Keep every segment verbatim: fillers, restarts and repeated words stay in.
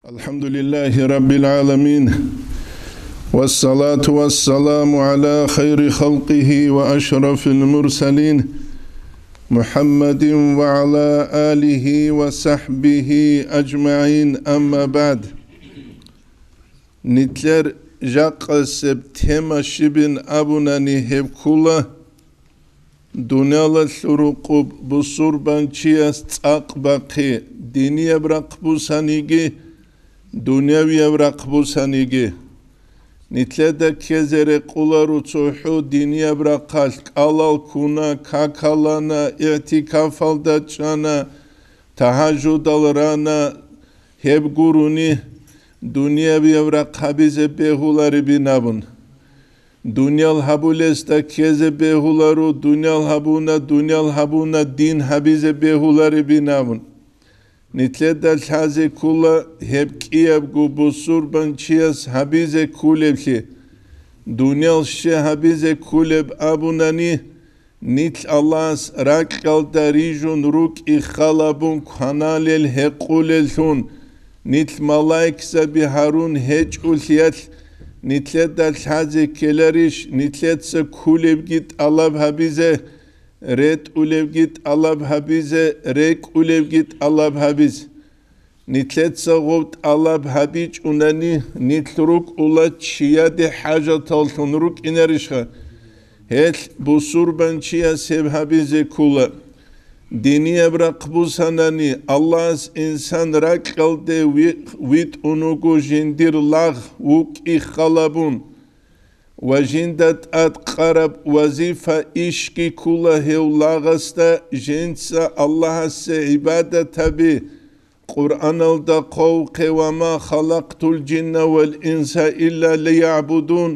الحمد لله رب العالمين، والصلاة والسلام على خير خلقه وأشرف المرسلين، محمد وعلى آله وصحبه أجمعين، أما بعد. Нилъер жакъасеб тема щибин абунани, гьеб ккола: дуниялалъул рукъуб бусурбанчияс цӀакъ бахъи, динияб рахъ бусаниги, дунявияб рахъ бусаниги. Нилъеда ккезе рекъоларо цохӀо динияб рахъалъ: кӀалал ккуна, какал ана, игӀтикафалда чӀана, тагьажудал рана, гьеб гурони, дуниябияб рахъ гьабизе бегьуларебин абун. Дуниял гьабулесда ккезе бегьуларо, дуниял гьабуна, дуниял гьабуна, дин гьабизе бегьуларебин абун. Нилъеда лъазе ккола гьеб кӀиябго бусурбанчияс гьабизе кколеблъи. Дуниял щай гьабизе кколеб абунани, нилъ Аллагьас ракьалда рижун рукӀи халабун кваналел гьекъулеллъун, нилъ малаикзаби гьарун гьечӀолъиялъ, нилъеда лъазе ккеларищ нилъеца кколебги тӀалаб гьабизе, ретӀулебги тӀалаб гьабизе, рекӀулебги тӀалаб гьабизе? Нилъеца гъоб тӀалаб гьабичӀунани, нилъ рукӀула чияде хӀажаталлъун рукӀинарищха? Гьелъ бусурбанчияс гьеб гьабизе ккола. Динияб рахъ бусанани, Аллагьас инсан ракьалде ви-, витӀун вуго жиндир лагъ, вукӀи халабун. Ва жинда тӀад къараб вазифа, ишги ккола гьев лагъасда, жинца Аллагьасе гӀибадат гьаби. Къуръаналда хъвавухъе: «Ва ма халакътул жинна вал инса илля лиягӀбудун»,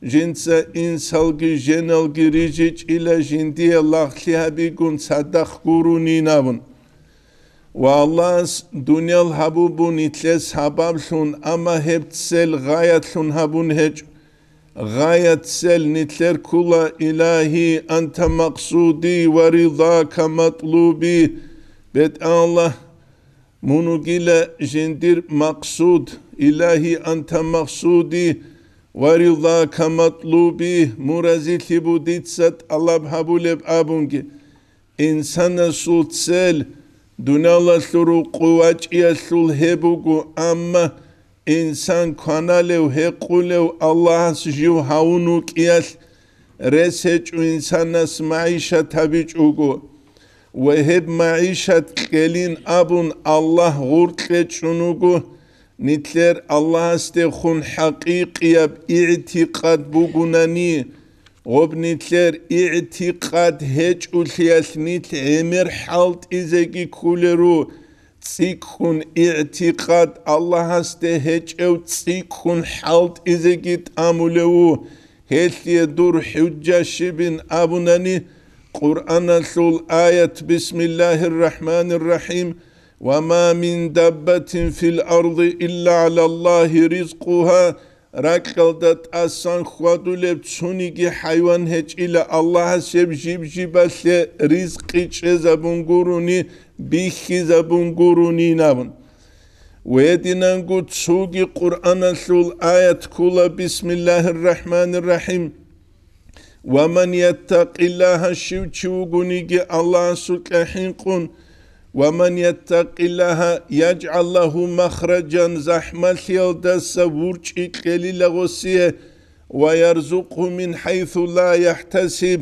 жинца инсалги женалги рижичӀила жиндие лагълъи гьабигун цадахъ гуронин абун. Ва Аллагьас дуниял гьабун буго нилъее сабаблъун, амма гьеб цел гъаятлъун гьабун гьечӀо. Гъаят цел нилъер ккола: «Илагьи, анта макъсуди ва ридака матлуби». БетӀаллагь, мун вугила жиндир макъсуд, «Илагьи, анта макъсуди ва ридака матлуби», мун разилъи буго дица тӀалаб гьабулеб абунги. Инсанасул цел дуниялалъул рукъу вачӀиялъул гьеб буго, амма инсан кваналев, гьекъулев Аллагьас жив гьавун вукӀиялъ рес гьечӀо инсанас магӀишат гьабичӀого. Ва гьеб магӀишат кьелин абун Аллагь гъоркье чӀун вуго, нилъер Аллагьасдехун хӀакъикъияб игӀтикъад бугунани, гъоб нилъер игӀтикъад гьечӀолъиялъ нилъ гӀемер хӀалтӀизеги кколеро, цӀикӀкӀун игӀтикъад Аллагьасде гьечӀев цӀикӀкӀун хӀалтӀизеги тӀамулев ву, гьелъие дур хӀужа щибин абунани, Къуръаналъул аят: «Бисмиллагьир рахӀманир рахӀим, ва ма мин даббатин фил арди илля гӀалаллагьи ризкъугьа», ракьалда тӀасан хьвадулеб цониги хӀайван гьечӀила Аллагьас гьеб жиб-жибалъе ризкъи чӀезабун гурони, бихьизабун гуронин абун. Гьединанго цоги Къуръаналъул аят ккола: «Бисмиллагьир рахӀманир рахӀим. Ва ман яттакъиллагьа», щив чи вугониги Аллагьасукьа хӀинкъун, «ва ман яттакъиллагьа яжгӀал лагьу махражан», захӀмалъиялдаса ворчӀи кьелила гъосие, «ва ярзукъгьу мин хӀайсу ла яхӀтасиб»,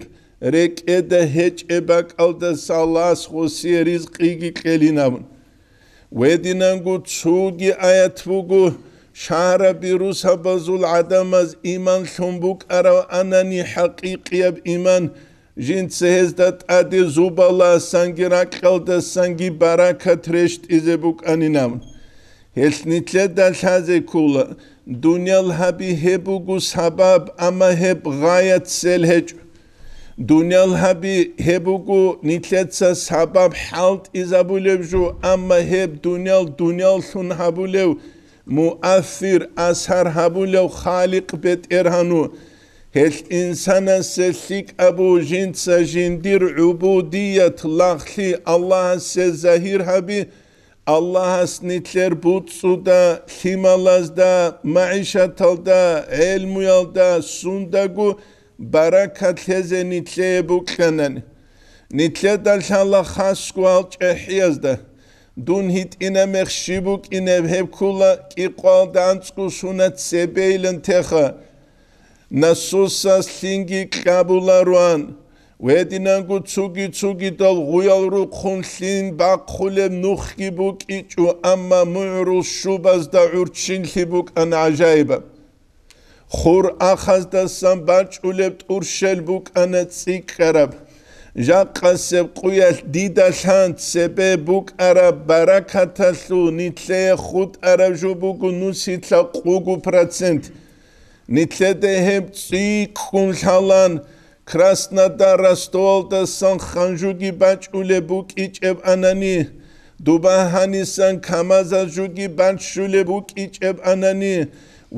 рекӀеда гьечӀеб бакӀалдаса Аллагьас гъосие ризкъиги кьелин абун. Гьединанго цоги аят буго, шагьраби русабазул гӀадамаз иман лъун букӀарав анани хӀакъикъияб иман, жинца гьезда тӀаде зубаласанги ракьалдасанги баракат рещтӀизе букӀанин абун. Гьелъ нилъеда лъазе ккола, дуниял гьаби гьеб буго сабаб, амма гьеб гъаят цел гьечӀо. Дуниял гьаби гьеб буго нилъеца сабаб хӀалтӀизабулеб жо, амма гьеб дуниял дунияллъун гьабулев, муассир, асар гьабулев Халикъ БетӀергьан ву. Гьелъ инсанасе лъикӀаб буго жинца жиндир гӀубудият, лагълъи Аллагьасе загьир гьаби, Аллагьас нилъер буцӀцӀуда, лъималазда, магӀишаталда, гӀелмуялда, сундаго баракат лъезе нилъее букьанани. Нилъеда лъала хасго гьал чӀехӀиязда. Дун гьитӀина мех щиб букӀинеб, гьеб ккула кӀикъоялда анцӀго сунат цебейилан теха. Насосас лъинги кьабулароан, гьединанго цуги-цугидал гъуял рухъун лъин бахъулеб нухги букӀичӀо, амма мугӀрул щубазда гӀурччинлъи букӀана гӀажаибаб. Хур ахаздасан бачӀулеб тӀурщел букӀана цӀикӀкӀараб. Жакъасеб къуялъ дида лъан цебе букӀараб баракаталъул нилъее хутӀараб жо буго нусилъа къугу процент. Нилъеда гьеб цӀикӀкӀун лъалан, Краснодар, Ростовалдасан ханжуги бачӀулеб букӀичӀеб анани, дуба гьанисан КамАЗа жуги бачӀулеб букӀичӀеб анани,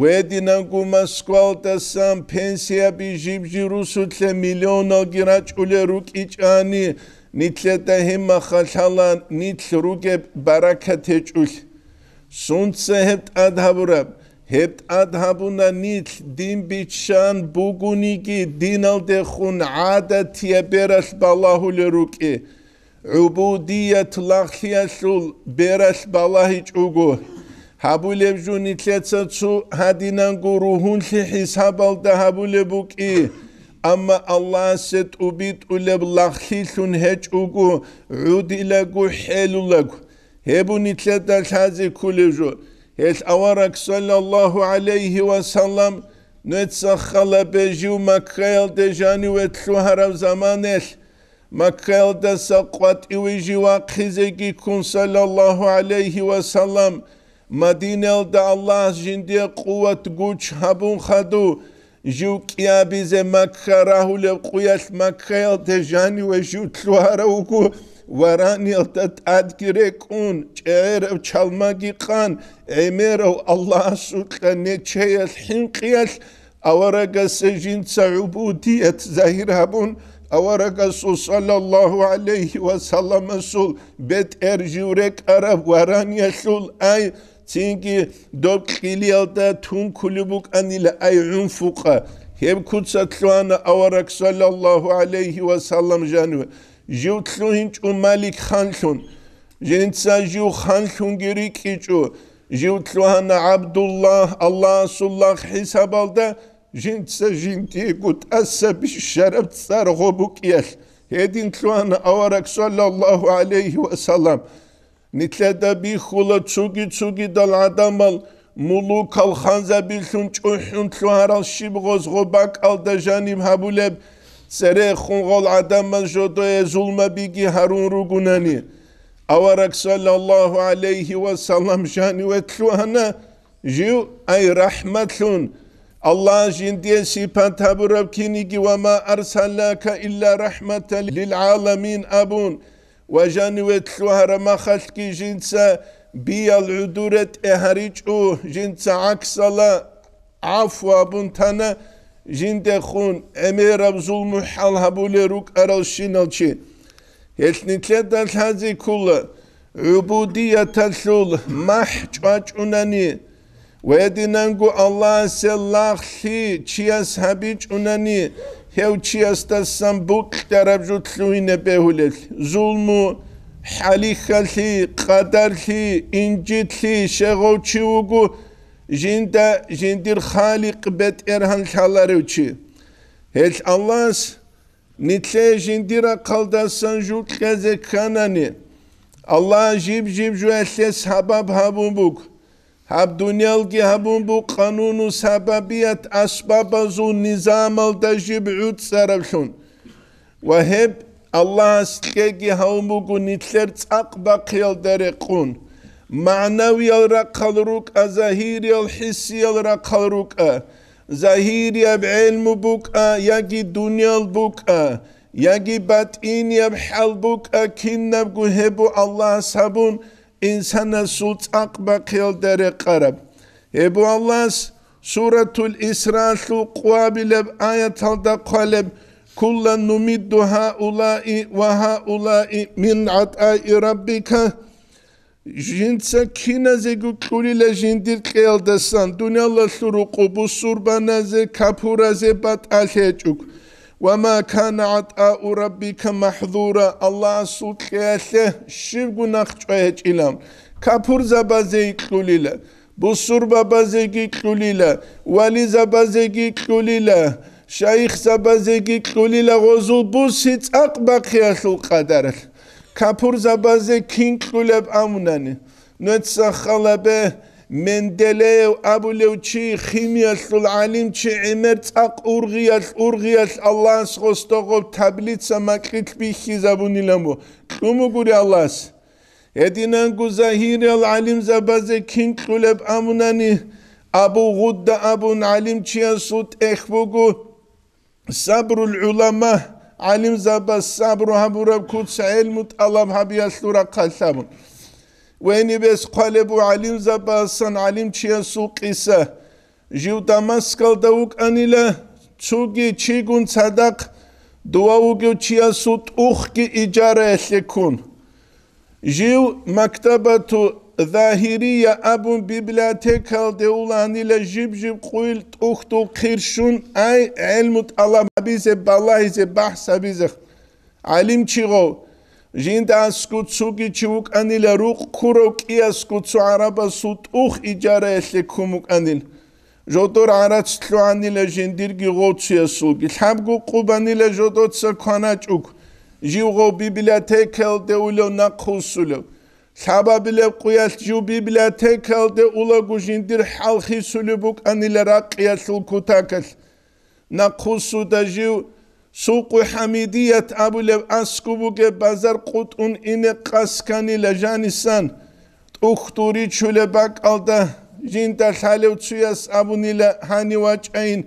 гьединанго Москвалдасан пенсияби жиб-жиб русулъе миллионалги рачӀулел рукӀичӀани, нилъеда гьеб маха лъалан нилъ ругеб баракат гьечӀулъ. Сунца гьеб тӀад гьабураб? Гьеб тӀад гьабуна нилъ дин биччан бугониги, диналдехун гӀадатияб бералъ балагьулел рукӀи, гӀубудият лагълъиялъул бералъ балагьичӀого. Гьабулеб жо нилъеца цо гьадинанго ругьунлъи хӀисабалда гьабулеб букӀи, амма Аллагьасе тӀубитӀулеб лагълъилъун гьечӀого, гӀудилаго, хӀелулаго. Гьеб нилъеда лъазе кколеб жо. Гьелъ авараг, саллаллагьу гӀалайгьи ва саллам, нуца хал гьабе, жив Маккаялде жаниве лъугьараб заманалъ, Маккаялдаса къватӀиве жив вахъизеги ккун, саллаллагьу гӀалайгьи ва саллам, Мадинаялда Аллагьас жиндие къуват-гуч гьабун хадув, жив кӀиабизе Макка рагьулеб къуялъ Маккаялде жаниве жив лъугьарав вуго, вараниялда тӀадги рекӀун, чӀегӀерав чалмаги къан, гӀемерав Аллагьасукьа нечеялъ хӀинкъиялъ аварагасе жинца гӀубудият загьир гьабун, аварагасул, саллаллагьу гӀалайгьи ва салламасул, бетӀер жив рекӀараб вараниялъул, ай, цинги доб кьилиялда тункулеб букӀанила, ай, гӀунфукъа. Гьеб куца лъугьана авараг, саллаллагьу гӀалайгьи ва саллам, жаниве. Жив лъугьинчӀо Малик ханлъун. Жинца жив ханлъунги рикӀкӀичӀо. Жив лъугьана ГӀабдуллагь, Аллагьасул лагъ хӀисабалда, жинца жиндиего тӀаса бищараб цӀар гъо букӀиялъ. Гьедин лъугьана авараг, саллаллагьу гӀалайгьи ва саллам. Нилъеда бихьула цуги-цугидал гӀадамал мулукал ханзабилъун чӀухӀун лъугьарал щиб гъоз гъо бакӀалда жаниб гьабулеб, церехун гъол гӀадамаз жодое зулмабиги гьарун ругунани. Авараг, саллаллагьу гӀалайгьи ва саллам, жаниве лъугьана, жив, ай, рахӀматлъун, Аллагь жиндие сипат гьабураб киниги, «Ва ма арсалнака илла рахӀматан лил гӀаламин», абун, ва жаниве лъугьараб махалъги жинца биял гӀодоре тӀегьаричӀо, жинца гӀаксала гӀафу абун тана, жиндехун гӀемераб зулму-хӀал гьабулел рукӀаралщинал чи. Гьелъ нилъеда лъазе ккола, гӀубудияталъул махӀ чӀвачӀунани, гьединанго Аллагьасе лагълъи чияс гьабичӀунани, гьев чиясдасан букьараб жо лъугьине бегьулел, зулму, хӀалихьалъи, къадарлъи, инжитлъи, щегъов чи вуго, жинда жиндир Халикъ БетӀергьан лъаларев чи. Гьелъ Аллагьас нилъее жиндир рахъалдасан жукьазе кканани, Аллагь жиб-жиб жоялъе сабаб гьабун буго. Гьаб дуниялги гьабун буго къануну сабабият, асбабазул низамалда жиб гӀуцӀараблъун. Ва гьеб Аллагьас кьеги гьавун буго нилъер цӀакъ бахъиялда рекъун. МагӀнавиял рахъал рукӀа, загьириял, хӀиссиял рахъал рукӀа. Загьирияб гӀелму букӀа, яги дуниял букӀа, яги батӀинияб хӀал букӀа, кинабго гьеб бу Аллагьас гьабун, инсанасул цӀакъ бахъиялда рекъараб. Гьеб бу Аллагьас Суратул Исраалъул къуабилеб аяталда хъвалеб: «Куллан нумидду гьаулаи ва гьаулаи мин гӀатӀаи раббика». Жинца киназего кьулила жиндир кьеялдасан, дуниялалъул рукъу бусурбаназе, капуразе батӀалъи гьечӀого. «Ва ма кана гӀатӀау раббика махӀзура», Аллагьасул кьеялъе щибго нахъ чӀвай гьечӀилан. Капурзабазеги кьулила, бусурбабазеги кьулила, вализабазеги кьулила, шайихзабазеги кьулила гъозул буси цӀакъ бахъиялъул къадаралъ. Капурзабазе кин кьулеб амунани, нуца халабе, Менделеев абулев чи, химиялъул гӀалимчи, гӀемер цӀакъ ургъиялъ-ургъиялъ Аллагьас гъосда гъоб таблица макьилъ бихьизабунилан бу, кьумугури Аллагьас. Гьединанго загьириял гӀалимзабазе кин кьулеб амунани, Абу Гъудда абун гӀалимчиясул тӀехь буго, Сабрул гӀулама, гӀалимзабаз сабру гьабураб куц гӀелму тӀалаб гьабиялъул рахъалъ абун. Венибес хъвалеб бу гӀалимзабасан гӀалимчиясул къиса. Жив Дамаскалда вукӀанила, цуги чигун цадахъ дова вугев чиясул тӀухги ижараялъе ккун. Жив Мактабату Загьирия абун библиотекалде уланила, жиб-жиб къуйл тӀухьдул хъир щун, ай, гӀелму тӀалаб гьабизе, балагьизе, бахӀс гьабизе. ГӀалимчи гъов, жинда аскӀов цуги чи вукӀанила, рукъ ккурав кӀиясго цо гӀарабасул тӀух ижараялъе ккун вукӀанила. Жодор гӀарац лъугьанила жиндирги гъовцуясулги. Лъабго къубанила жодоца кваначӀуг, жив гъов библиотекаялде улев нахъвуссулев. Лъабабилеб къуялъ жив библиотекаялде улаго жиндир хӀал хисулеб букӀанила ракъиялъул кутакалъ. Нахъвуссуда жив Сукъу ХӀамидият абулеб аскӀуб бугеб базар къутӀун ине къасканила жанисан, тӀухьдул ричулеб бакӀалда жинда лъалев цуяс абунила гьанив вачӀайин,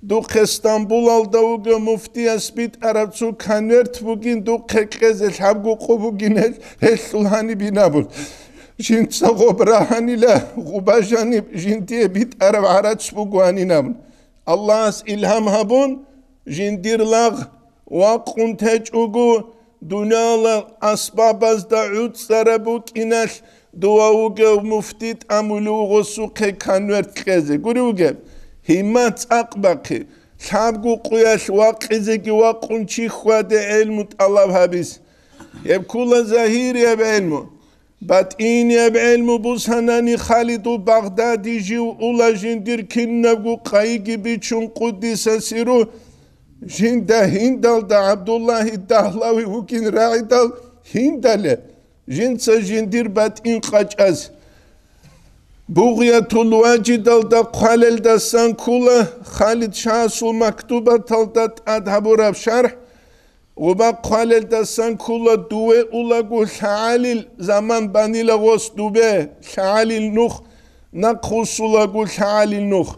духъе Стамбулалда вугев муфтияс битӀараб цо конверт бугин духъе кьезе лъабго къо бугин гьел, гьелъул гьаниб инабун. Жинца гъоб рагьанила, гъуба жаниб жиндие битӀараб гӀарац буго гьанин абун. Аллагьас илгьам гьабун, жиндир лагъ вакъун течӀого, дуниялал асбабазда гӀуцӀараб букӀиналъ дова вугев муфти тӀамулев гъосухъе конверт кьезе. Гури вугеб, гьимма цӀакъ бахъи, лъабго къуялъ вакъизеги вакъун чи хьваде гӀелму тӀалаб гьабиз. Гьеб ккула загьирияб гӀелму. БатӀинияб гӀелму бусанани Халидул Багъдади жив ула жиндир кинабго къайиги бичун къуддиса сиру, жинда гьиндалда ГӀабдуллагьи Дагьлави вукӀин рагӀидал гьиндале, жинца жиндир батӀин къачӀаз. Бугъиятул Важидалда хъвалелдасан ккула Халид Шагьасул мактубаталда тӀад гьабураб шархӀ, Гъуба хъвалелдасан ккула дуве улаго лъагӀалил заман банила гъос дубе, лъагӀалил нух, нахъвуссулаго лъагӀалил нух.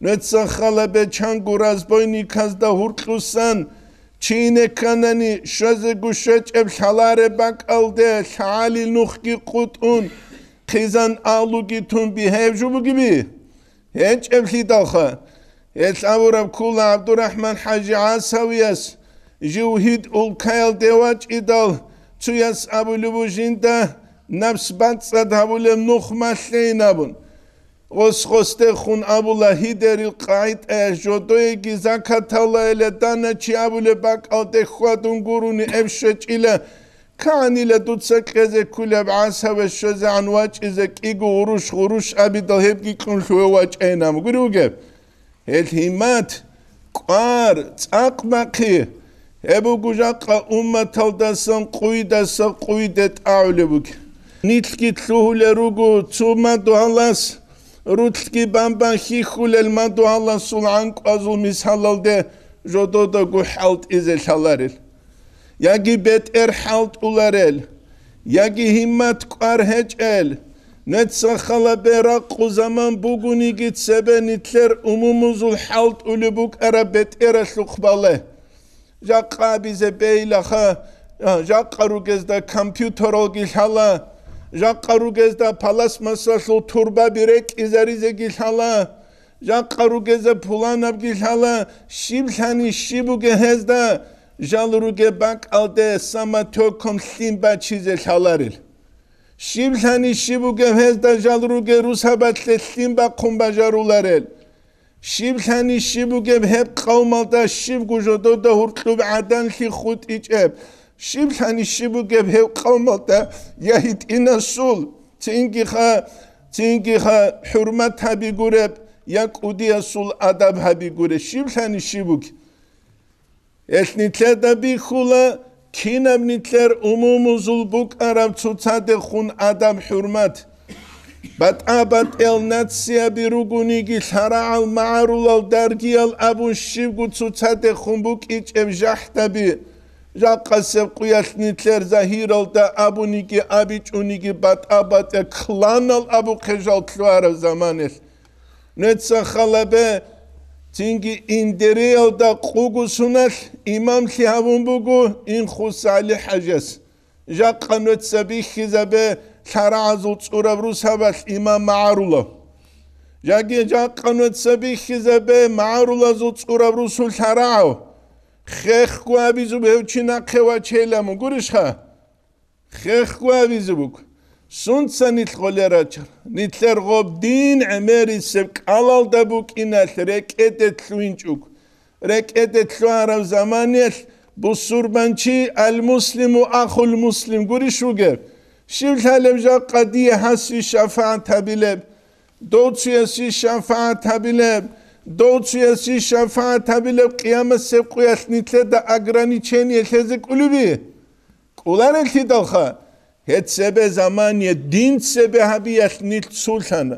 Нуца хала бечанго разбойниказда гьуркьусан, чи ине кканани, щвезего щвечӀеб лъалареб бакӀалде лъагӀалил нухги къутӀун, хъизан алуги тун бигьев жо бугеби? ГьечӀеблъидалха, гьелъ абураб ккула ГӀабдурахӀман-хӀажи ГӀасавияс, жив гьид улкаялде вачӀидал, цуяс абулеб бу жинда напс бацӀцӀад гьабулеб нух малъейин абун. Гъос-гъосдехун абула гьидерил къагӀидаяс жодоеги закаталайила дана чи абулеб бакӀалде хьвадун гурони эб щвечӀила, КагӀанила дуца кьезе ккулеб ГӀасаве щвезегӀан вачӀизе кӀиго гъурущ-гъурущ абидал гьебги кьун лъугьев вачӀайин абун гури вугеб? Гьел гьиммат, кӀвар, цӀакъ бахъи, гьеб буго жакъа умматалдасан къуйдаса къуйде тӀагӀулеб бугеб. Нилъги лъугьулел руго цо мадугьалас, рулъги бамбан хьихьулел мадугьаласул гӀанкӀвазул мисалалде жододаго хӀалтӀизе лъаларел. Яги бетӀер хӀалтӀуларел, яги гьиммат кӀвар гьечӀел, нуца хала бе ракъу заман бугониги цебе нилъер умумузул хӀалтӀулеб букӀараб бетӀералъухъ бале. Жакъа абизе бейилаха, а, жакъа ругезда компьютералги лъала, жакъа ругезда пластмассалъул турбаби рекӀизаризеги лъала, жакъа ругезда пуланабги лъала, щиб лъани щиб бугеб гьезда, жал ругеб бакӀалде самотёком лъим бачизе лъаларел. Щиблъани щиб бугеб гьезда жал ругел русабалъе лъим бахъун бажаруларел? Щиблъани щиб бугеб гьеб къавмалда щибго жодода гьуркьуб гӀаданлъи хутӀичӀеб? Щиблъани щиб бугеб гьеб къавмалда я гьитӀинасул, цингиха, цингиха хӀурмат гьаби гуреб, я кӀудиясул адаб гьаби гуреб? Щиблъани щиб бугеб? Гьелъ нилъеда бихьула, кинаб нилъер умумузул букӀараб цоцадехун адаб-хӀурмат. БатӀа-батӀиял нацияби ругониги, лъарагӀал магӀарулал даргиял абун щибго цоцадехун букӀичӀеб жахӀдаби, жакъасеб къуялъ нилъер загьиралда абуниги абичӀониги батӀа-батӀа кланал абухъе жал лъугьараб заманалъ. Нуца халабе, цинги Индериялда къуго суналъ имамлъи гьавун буго Инхус ГӀали-хӀажас. Жакъа нуца бихьизабе лъарагӀазул цӀураб русабалъ имам магӀарулав. Жаги жакъа нуца бихьизабе магӀарулазул цӀураб русул лъарагӀав. Хехго абизуб гьев чи нахъе вачейилан гурищха? Хехго абизе буго. Сунца нилъ гъолел рачар? Нилъер гъоб дин гӀемерисеб кӀалалда букӀиналъ рекӀеде лъугьинчӀого. РекӀеде лъугьараб заманиялъ бусурбанчи, ал-муслиму ахул муслим гурищ вугев? Щив лъалеб жакъа дие гьаси шафагӀат гьабилеб? Дов цуяси шафагӀат гьабилеб? Дов цуяси шафагӀат гьабилеб къиямасеб къуялъ нилъеда ограничение лъезе кӀолеби? КӀолареллъидалха, гьеб цебе замание дин цебе гьабиялъ нилъ цулъана.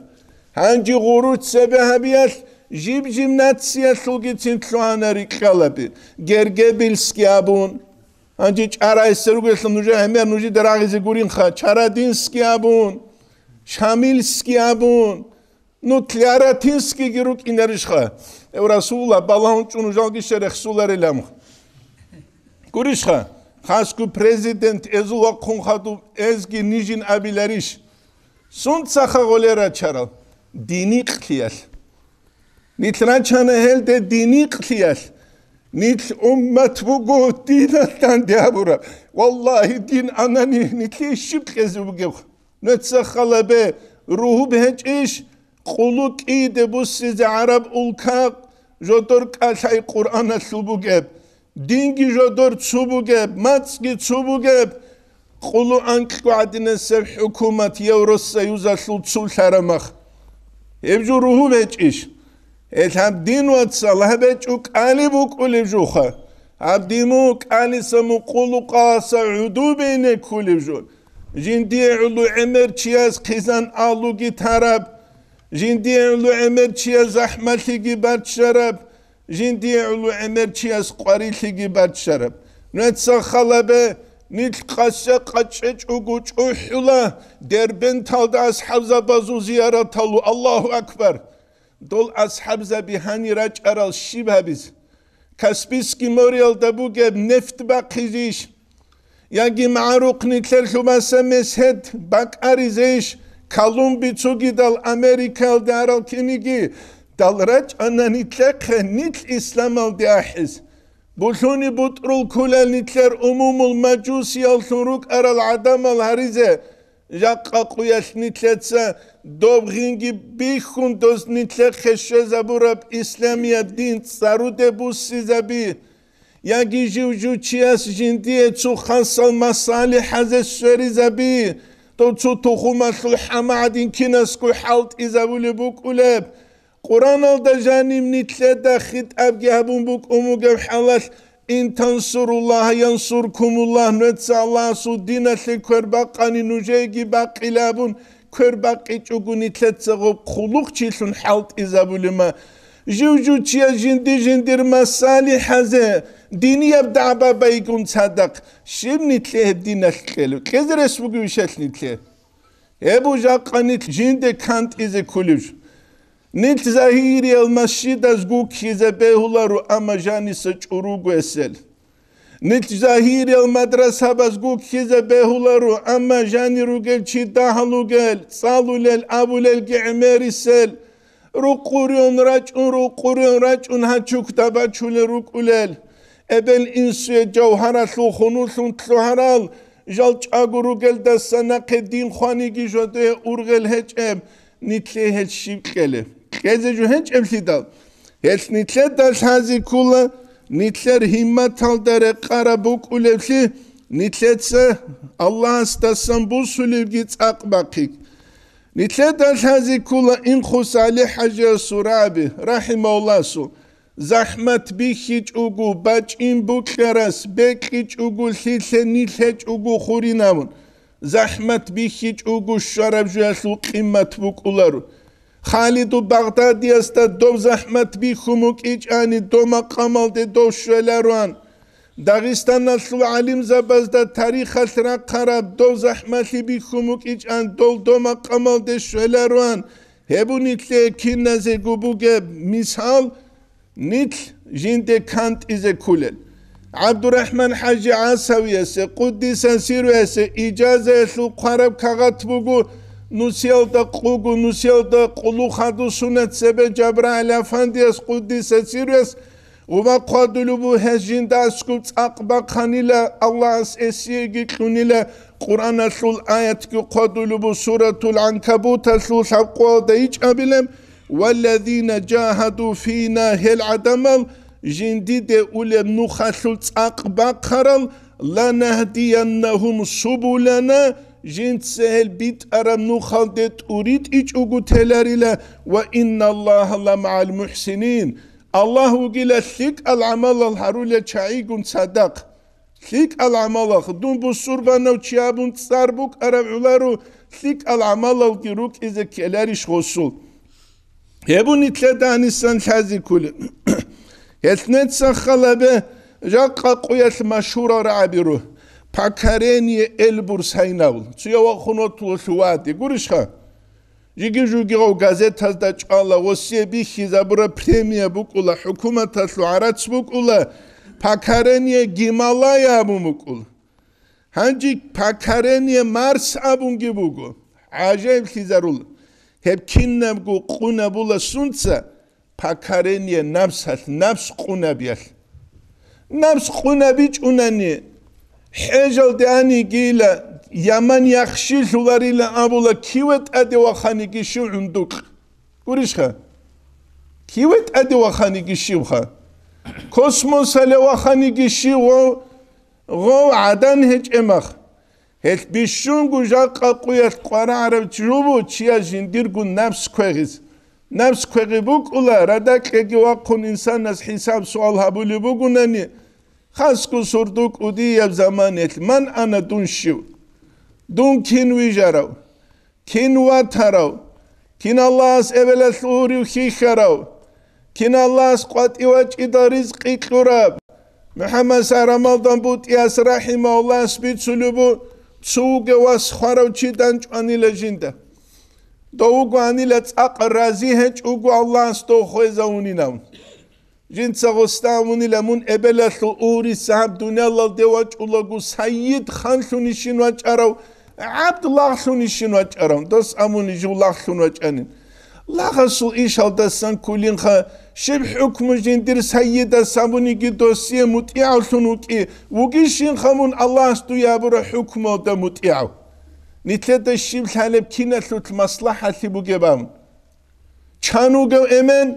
Гьанже гъурущ цебе гьабиялъ жиб-жиб нациялъулгицин лъугьана рикьалаби, гергебильский абун. Гьанже чӀарайсе ругелъул нужер гӀемер нужеда рагъизе гуринха, чарадинский абун, шамильский абун. Ну, Тляротинскийги рукӀинарищха? Эв Расулла, балагьун чӀун нужалги щерехсуларилан. Гурищха? Хасго президент эзул вахъун хадуб эзги нижин абиларищ? Сунцаха гъолел рачарал? Диникълъиялъ. Нилъ рачана гьелде диникълъиялъ. Нилъ уммат буго диналъ данде гьабураб. Валлагьи, дин анани нилъее щиб кьезе бугеб? Нуца халабе, ругьуб гьечӀищ, къулу кӀийде буссизе гӀараб улка жодор кӀалъай Къуръаналъул бугеб, динги жодор цу бугеб, мацӀги цу бугеб, къулу анкьго гӀадинасеб хӀукумат Евросоюзалъул цулъарамах. Гьеб жо ругьуб гьечӀищ? Гьел гьаб дин, вацал, гьаб гьечӀо кӀали букӀулеб жуха. Гьаб дин мун кӀалиса мукъулукъаса гӀуду бейне ккулеб жо. Жиндие гӀоло гӀемер чияс хъизан алуги тараб, жиндие гӀоло гӀемер чияс захӀмалъиги баччараб, жиндие гӀоло гӀемер чияс къварилъиги баччараб. Нуца халабе, нилъ къасе къачӀечӀого чӀухӀула, Дербенталда асхӀабзабазул зияраталу. Аллагьу акбар! Дол асхӀабзаби гьани рачӀарал щиб гьабиз? Каспийский мореялда бугеб нефть бахъизейищ? Яги магӀарухъ нилъер лъубаса месед бакӀаризейищ? Колумби цогидал Америкаялде арал киниги дал рачӀана нилъехъе нилъ исламалде ахӀиз. Булъуни бутӀрул кколел нилъер умумул мажусияллъун рукӀарал гӀадамал гьаризе, жакъа къуялъ нилъеца доб гъинги бихьун, дос нилъехъе щвезабураб исламияб дин цӀаруде буссизаби, яги жив-жив чияс жиндие цо хасал масалихӀазе сверизаби, дов цо тухумалъул хӀама гӀадин кинасго хӀалтӀизабулеб букӀулеб. Къуръаналда жаниб нилъеда хитӀабги гьабун букӀун бугеб хӀалалъ, «Ин тансуруллагьа янсуркумуллагь», нуца Аллагьасул диналъе квер бакъани нужееги бакъила абун, квер бакъичӀого нилъеца гъоб хъулухъчилъун хӀалтӀизабулема. Жив-жив чияс жинди-жиндир масалихӀазе, динияб дагӀба байгун цадахъ, щиб нилъее гьеб диналъ кьелев? Кьезе рес бугевищ гьелъ нилъее? Гьеб жакъа нилъ жинде кантӀизе кколев жо. Нилъ загьириял масжидаз гуккизе бегьуларо, амма жаниса чӀуруго эсел. Нилъ загьириял мадрасабаз гуккизе бегьуларо, амма жани ругел чи дагьал ругел, цӀалулел, абулелги гӀемерисел. Рукъурион рачӀун, рукъурион рачӀун гьачукда бачулел рукӀулел. Эбел-инсуе жавгьаралъул хунуллъун лъугьарал жал чӀаго ругелдаса нахъе дин хваниги жодое ургъел гьечӀеб, нилъее гьел щиб кьелеб? Кьезе жо гьечӀеблъидал, гьелъ нилъеда лъази ккола, нилъер гьимматалда рекъараб букӀулеблъи, нилъеца Аллагьасдасан бусулебги цӀакъ бахъиги. Нилъеда лъази ккола Инхус ГӀали-хӀажиясул раби, рахӀимагьуллагьасул, захӀмат бихьичӀого бачӀин букьарас, бекьичӀого лъилъе нилъ гьечӀого хурин абун, захӀмат бихьичӀого щвараб жоялъул къимат букӀуларо. Халиду Багъдадиясда дов захӀмат бихьун букӀичӀани, дов макъамалде дов щвелароан. Дагъистаналъул гӀалимзабазда тарихалъ рахъараб дов захӀмалъи бихьун букӀичӀан, дол дов макъамалде щвелароан. Гьеб нилъее киназего бугеб мисал, нилъ жинде кантӀизе кколел. ГӀабдурахӀман-хӀажи ГӀасавиясе, къуддиса сирругьуясе, ижазаялъул хъвараб кагъат буго, нусиялда къуго, нусиялда къулухъ гьадусуна цебе ЖабрагӀил афандияс, къуддиса сирругьуяс, гъуба хъвадулеб буго гьес жинда аскӀоб цӀакъ бахъанила, Аллагьас эсиеги кьунила, Къуръаналъул аятги хъвадулеб буго, Суратул ГӀанкабуталъул лъабкъоялда ичӀабилеб: «Валлазина жагьаду фина», гьел гӀадамал, жиндиде улеб нухалъул цӀакъ бахъарал, «ланахдияннагьум субулана», жинца гьел битӀараб нухалде тӀуритӀичӀого теларила, «ва инналлагьа ламагӀал мухӀсинин», Аллагь вугила лъикӀал гӀамалал гьарулел чагӀигун цадахъ. ЛъикӀал гӀамалалъ дун бусурбанав чи абун цӀар букӀараб гӀоларо, лъикӀал гӀамалалги рукӀизе ккеларищ гъосул? Гьеб нилъеда гьанисан лъази кколеб. Гьелъ нецаха лъалебе, жакъа къуялъ машгьурал рагӀаби руго: «Покорение Эльбрус» гьайнавул. Цуя вахун ватулелъул вади гурищха? Жиги-жугигъав газетазда чӀвала, гъосие бихьизабураб премия букӀула, хӀукуматалъул гӀарац букӀула, «Покорение Гималая» абун букӀула. Гьанже «Покорение Марс» абунги буго. ГӀажаиблъизарула. Гьеб кинабго къунабула сунца, «Покорение Напсалъ», напс къунабиялъ. Напс къунабичӀунани, хӀежалде анигийила, яман яхшилъуларила абула, киве тӀаде ваханиги щив гӀундукь. Гурищха? Киве тӀаде ваханиги щивха? Космосале ваханиги щив гъов, гъов гӀадан гьечӀемах. Гьелъ бищунго жакъа къуялъ къварагӀарав чи жубу чияс жиндирго напс квегъиз. Напс квегъи букӀула, радакьеги вахъун инсанас хӀисаб-суал гьабулеб бугунани, хасго сордо кӀудияб заманаялъ: «Ман ана, дун щив? Дун кин вижарав? Кин ватарав? Кин Аллагьас эбелалъул гьурив хьихьарав? Кин Аллагьас къватӀив вачӀидал ризкъи кьураб?» МухӀаммад Сарамалдан БутӀияс рахӀимагьуллагьас бицулеб буго, цо вугев вас хварав чи данчӀванила жинда. Дов вугоанила цӀакъ рази гьечӀого Аллагьас дов хвезавунилан. Жинца гъосда абунила: «Мун эбелалъул угьуриса гьаб дуниялалде вачӀулаго сайид ханлъунищин вачӀарав, гӀабд лагълъунищин вачӀарав?» Дос абуни жив лагълъун вачӀанин. Лагъасул ишалдасан кколинха, щиб хӀукму жиндир сайидас абуниги досие мутӀигӀавлъун вукӀи, вугищинха мун Аллагьас дуе гьабураб хӀукмуялда мутӀигӀав? Нилъеда щиб лъалеб, киналъулъ маслахӀалъи бугеб абун? Чан вугев эмен?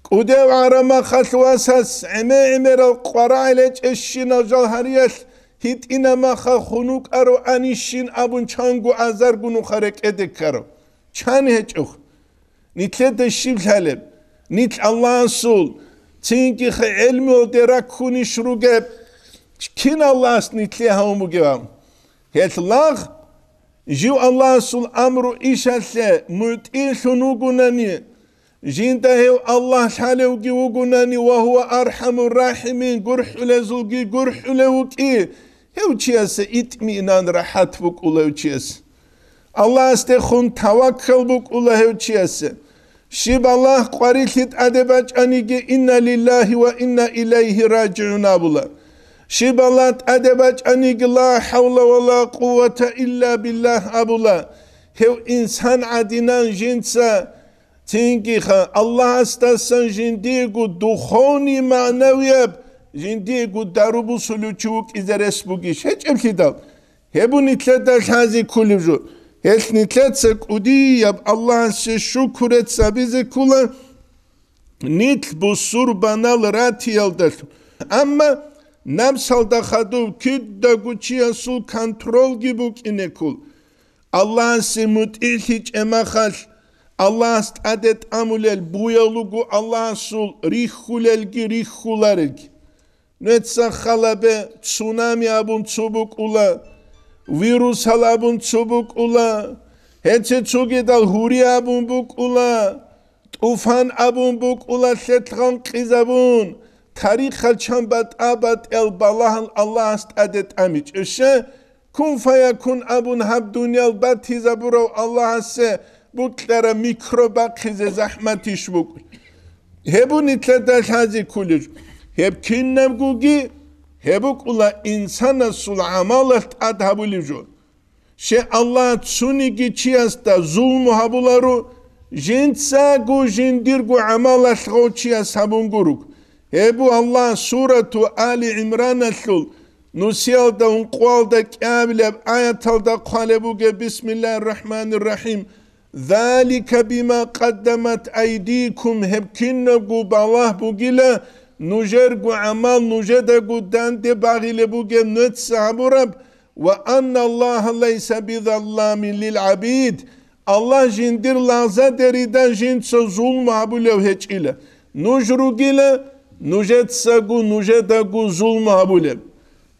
КӀудев гӀарамахалъ васас гӀеме-гӀемерал къварагӀел гьечӀещинал жал гьариялъ гьитӀинамаха хун вукӀаро анищин абун чанго азарго нуха рекӀеде ккаро. Чан гьечӀох? Нилъеда щиб лъалеб? Нилъ Аллагьасул, цинги хъе-, гӀелмуялде раккунищ ругеб? Кин Аллагьас нилъее гьавун бугеб? Гьелъ лагъ, жив Аллагьасул амру ишалъе мутӀигӀлъун вугунани, жинда гьев Аллагь лъалевги вугунани, ва гьува архӀамур рахӀимин, гурхӀулезулги гурхӀулев вукӀи, гьев чиясе итминан, рахӀат букӀула гьев чиясе. Аллагьасдехун таваккал букӀула гьев чиясе. Щиб Аллагь къварилъи тӀаде бачӀаниги, «Инна лиллагьи ва инна илайгьи ражигӀун» абула. Щиб Аллагь тӀаде бачӀаниги, «Ла хӀавла ва ла къуввата илла биллагь» абула. Гьев инсан гӀадинан жинца цинги ха-, Аллагьасдасан жиндиего духовный, магӀнавияб, жиндиего дару бусулев чи вукӀизе рес бугищ? ГьечӀеблъидал, Гьеб нилъеда лъазе кколеб жо. Гьелъ нилъеца кӀудияб Аллагьасе шукру гьабизе ккола нилъ бусурбанал ратиялдалъун. Амма напсалда хадуб кидаго чиясул контролги букӀине ккол. Аллагьасе мутӀигӀлъичӀеб мехалъ, Аллагьас тӀаде тӀамулел буял руго Аллагьасул рихьулелги рихьуларелги. Нуца халабе цунами абун цо букӀула, вирусал абун цо букӀула, гьеце цогидал гьури абун букӀула, тӀуфан абун букӀула, лъелъ гъанкъизабун, тарихал чан батӀа-батӀиял балагьал Аллагьас тӀаде тӀамичӀебщи, кун фаякун абун гьаб дуниял батизабурав Аллагьасе букьараб микроб бахъизе захӀматищ букӀун? Гьеб нилъеда лъазе кколеб жо. Гьеб кинабгоги гьеб букӀула инсанасул гӀамалалъ тӀад гьабулеб жо. Щай Аллагь цониги чиясда зулму гьабуларо, жинцаго жиндирго гӀамалалъ гъов чияс гьабун гуруг. Гьеб Аллагь сурату Али ГӀимраналъул нусиялда ункъоялда кӀиабилеб аяталда хъвалеб бугеб: «Бисмиллагьир рахӀманир рахӀим. Залика бима къаддамат айдикум», гьеб кинабго балагь бугила, нужерго гӀамал нужедаго данде багъилеб бугеб нуца гьабураб, «Ва анна Аллагьа лайса бизалламин лил гӀабид», Аллагь жиндир лагъзадерида жинца зулму гьабулев гьечӀила. Нуж ругила, нужецаго нужедаго зулму гьабулеб.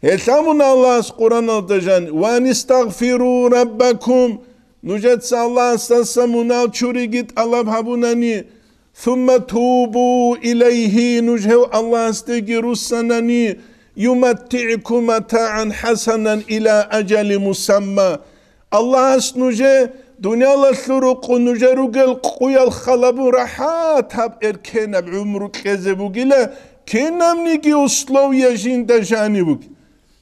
Гьелъ абуна Аллагьас Къуръаналда жан: «Ва анистагъфиру раббакум», нужеца Аллагьасдаса мунагьал чуриги тӀалаб гьабунани, «Сумма тубу илайгьи», нуж гьев Аллагьасдеги руссанани, «юматтигӀкум матагӀан хӀасанан иля ажали мусамма». Аллагьас нужее дуниялалъул рукъу нужер ругел къуял халабун рахӀат гьаб эркенаб гӀумру кьезе бугила, кинабниги условия жинда жаниб бугеб.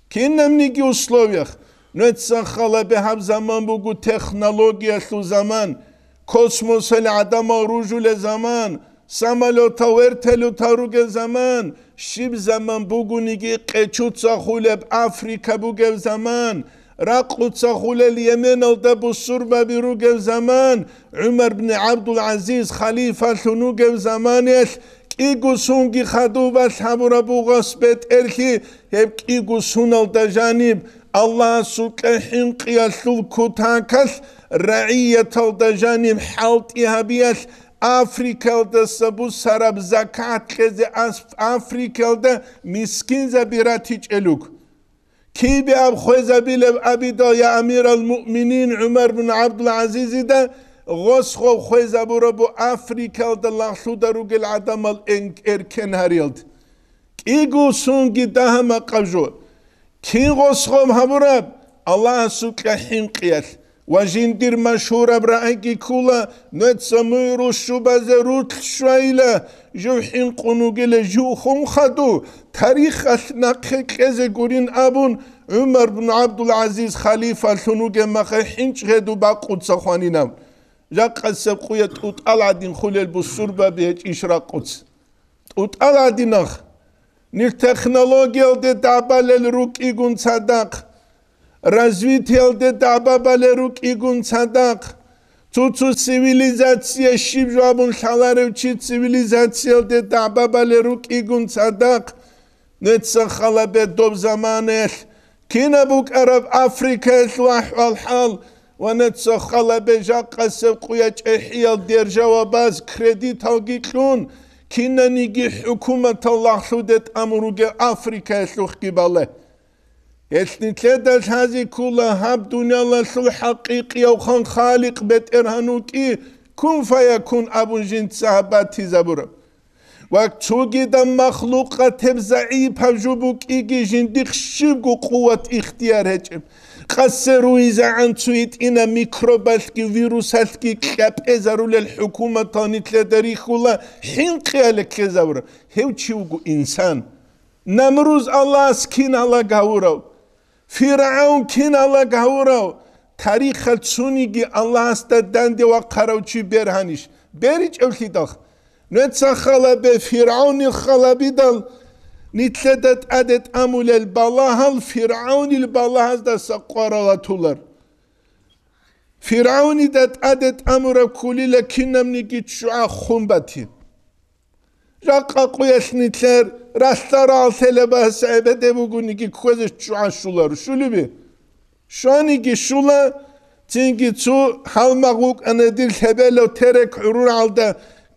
Кинабниги условиях. Нуца халабе гьаб заман буго технологиялъул заман, космосалъ гӀадамал ружулел заман, самолетал, вертолетал ругел заман, щиб заман бугониги къечуца хулеб Африка бугеб заман, ракъуца хулел Йеменалда бусурбаби ругел заман, ГӀумар бни ГӀабдул-ГӀазиз халифалъун вугев заманаялъ кӀиго сунги хадубалъ гьабураб буго гьас бетӀерлъи, гьеб кӀиго суналда жаниб Аллагьасукьа хӀинкъиялъул кутакалъ рагӀияталда жаниб хӀалтӀи гьабиялъ Африкалдаса бусараб закат кьезе ас-, Африкалда мискинзаби ратичӀел руго. Кибе аб хвезабилеб абидал, я амирал муъминин, ГӀумар бин ГӀабдул-ГӀазизида гъос гъов хвезабурабу Африкалда лагълъуда ругел гӀадамал эн-, эркен гьариялда? КӀиго сунги дагьа-макъаб жо. Кин гъос гъов гьабураб? Аллагьасукьа хӀинкъиялъ. Ва жиндир машгьураб рагӀиги ккула, нуца мугӀрул щубазе рулъ щвайила, жив хӀинкъун вугила, жив хун хаду, тарихалъ нахъе кьезе гурин абун, ГӀумар бин ГӀабдул-ГӀазиз халифалъун вугеб мехалъ хӀинчӀ гьеду бакъуца хванинав. Жакъасеб къуя тӀутӀал гӀадин хулел бусурбаби гьечӀищ ракъуц. ТӀутӀал гӀадинах. Нилъ технологиялде дагӀбалел рукӀигун цадахъ, развитиялде дагӀбабалел рукӀигун цадахъ, цо-цо цивилизация щиб жо абун лъаларев чи цивилизациялде дагӀбабалел рукӀигун цадахъ, нуца халабе доб заманаялъ Кинаб букӀараб Африкаялъул ахӀвал-хӀал ва нуца халабе жакъасеб къуя чӀехӀиял державабаз кредиталги кьун, кинаниги хӀукуматал лагълъуде тӀамун ругел Африкаялъухъги бале. Гьелъ нилъеда лъазе ккола гьаб дуниялалъул хӀакъикъияв хан Халикъ БетӀергьан вукӀи, кун фаякун абун жинца гьаб батизабураб. Ва цогидаб махлукъатеб загӀипаб жо букӀиги жиндихъ щибго къуват-ихтияр гьечӀеб. Къасе руйзагӀан цу гьитӀинаб микробалъги вирусалъги кьапӀезарулел хӀукуматал нилъеда рихьула хӀинкъиялде ккезабураб. Гьев чи вуго инсан. Намруз Аллагьас кин гьалаг гьавурав? ФиргӀавн кин гьалаг гьавурав? Тарихалъ цониги Аллагьасда данде вахъарав чи бергьанищ? БеричӀевлъидал. Нуца халабе ФиргӀавнил халабидал, Нилъеда тӀаде тӀамулел балагьал ФиргӀавнил балагьаздаса къварал атулар. ФиргӀавнида тӀаде тӀамураб кколила кинабниги ччугӀа хун батин. Жакъа къуялъ нилъер ралъдал рагӀалъелабас гӀебеде бугониги кквезе ччугӀа щуларо. Щулебе? Щваниги щула, цинги цо гьалмагъ вукӀана дир лъебелав терек гӀурургӀалда,